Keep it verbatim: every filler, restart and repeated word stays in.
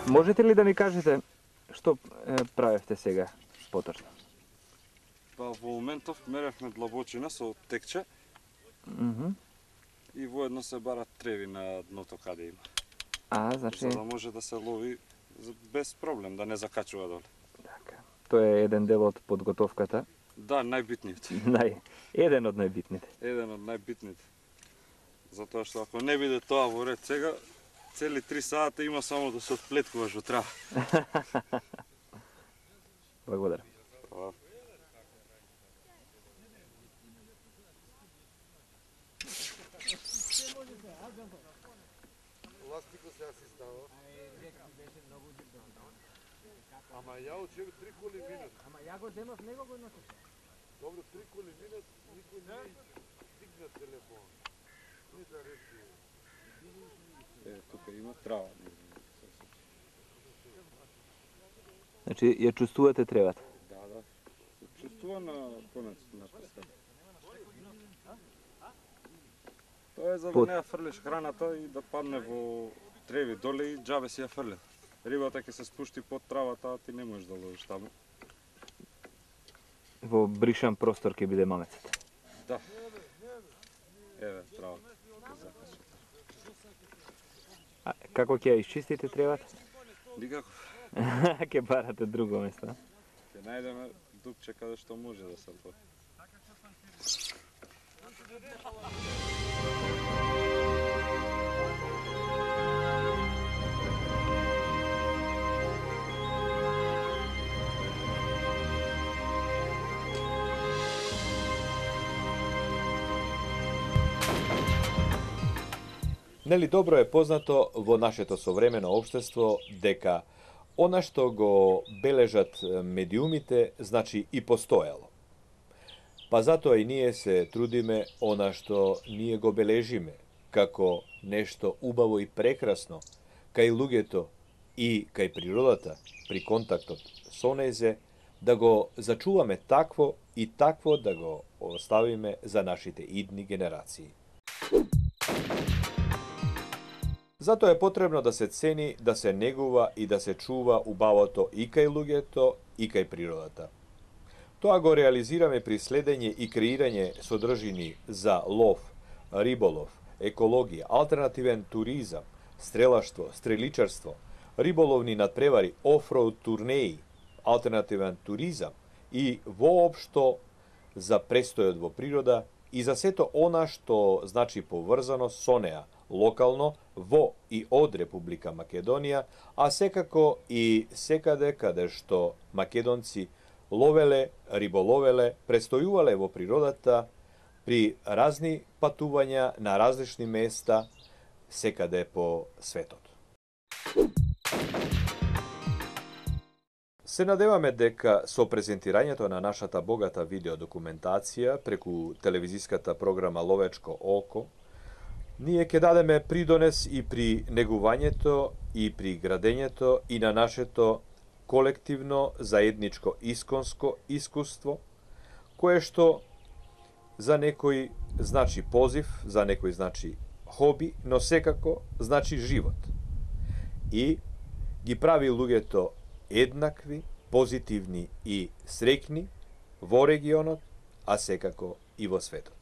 Можете ли да ми кажете што е, правевте сега поточно? Па во моментов меревме длабочина со текче. Mm -hmm. И воедно се барат треви на дното каде има. А, значи... За да може да се лови без проблем, да не закачува доле. Така. Тоа е еден дел од подготовката. Да, најбитниот. Нај... Еден од најбитните. Еден од најбитните. Затоа што ако не биде тоа во ред сега, цели три сата има само да се отплеткуваш во трава. Благодарам. Hvala. Ластико се си става. Ама ја очев три коли минут. Ама ја го земав него го носиш. Добро, три коли минут, никој не стигна телефон. Не да речи. Е, тука има трава. Значи, ја чувствувате тревата? Да, да. Се чувствува на конец на прстата. Тоа е за да не ја фрлиш храната и да падне во треви доле и џабе си ја фрлил. Рибата ќе се спушти под травата, а ти не можеш да ловиш таму. Во бришан простор ќе биде мамецата. Да. Еве, травата. А како ќе ја исчистите тревата? Никако. Ќе барате друго место. Ќе најдеме дупче каде што може да се тоа. Нели добро е познато во нашето современо општество дека она што го бележат медиумите, значи и постоело. Па затоа и ние се трудиме она што ние го бележиме, како нешто убаво и прекрасно, кај луѓето и кај природата, при контактот со незе, да го зачуваме такво и такво да го оставиме за нашите идни генерации. Затоа е потребно да се цени, да се негува и да се чува убавото и кај луѓето и кај природата. Тоа го реализираме при следење и креирање содржини за лов, риболов, екологија, алтернативен туризам, стрелаштво, стреличарство, риболовни надпревари, офроуд турнеи, алтернативен туризам и воопшто за престојот во природа и за сето она што значи поврзано со неа, локално, во и од Република Македонија, а секако и секаде каде што македонци ловеле, риболовеле, престојувале во природата при разни патувања на различни места секаде по светот. Се надеваме дека со презентирањето на нашата богата видеодокументација преку телевизиската програма Ловечко око, ние ќе дадеме придонес и при негувањето и при градењето и на нашето колективно заедничко исконско искуство, кое што за некој значи позив, за некој значи хоби, но секако значи живот. И ги прави луѓето еднакви, позитивни и среќни во регионот, а секако и во светот.